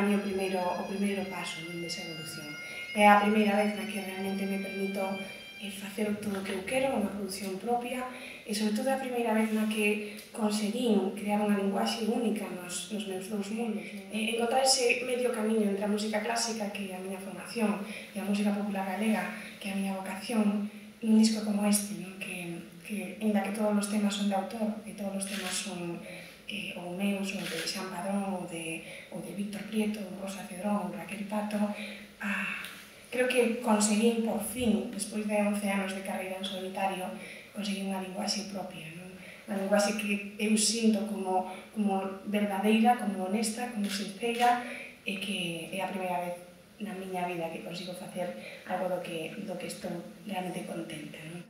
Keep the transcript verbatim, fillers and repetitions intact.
para mí o primeiro, o primeiro paso desa evolución. É a primeira vez na que realmente me permito facer todo o que eu quero, unha produción propia, e sobre todo a primeira vez na que conseguín crear unha linguaxe única nos, nos meus dous mundos. E encontrar ese medio camiño entre a música clásica, que é a miña formación, e a música popular galega, que é a miña vocación, nun disco como este, non? Que, que, ainda que todos os temas son de autor, e todos os temas son eh, ou meus, ou de Xan Padrón, ou de, ou de Víctor Prieto, ou Rosa Cedrón, ou Raquel Pato, ah, creo que conseguín, por fin, despois de once anos de carreira en solitario, conseguín unha linguaxe propia, non? Unha linguaxe que eu sinto como, como verdadeira, como honesta, como sincera, e que é a primeira vez na miña vida que consigo facer algo do que, do que estou realmente contenta, non?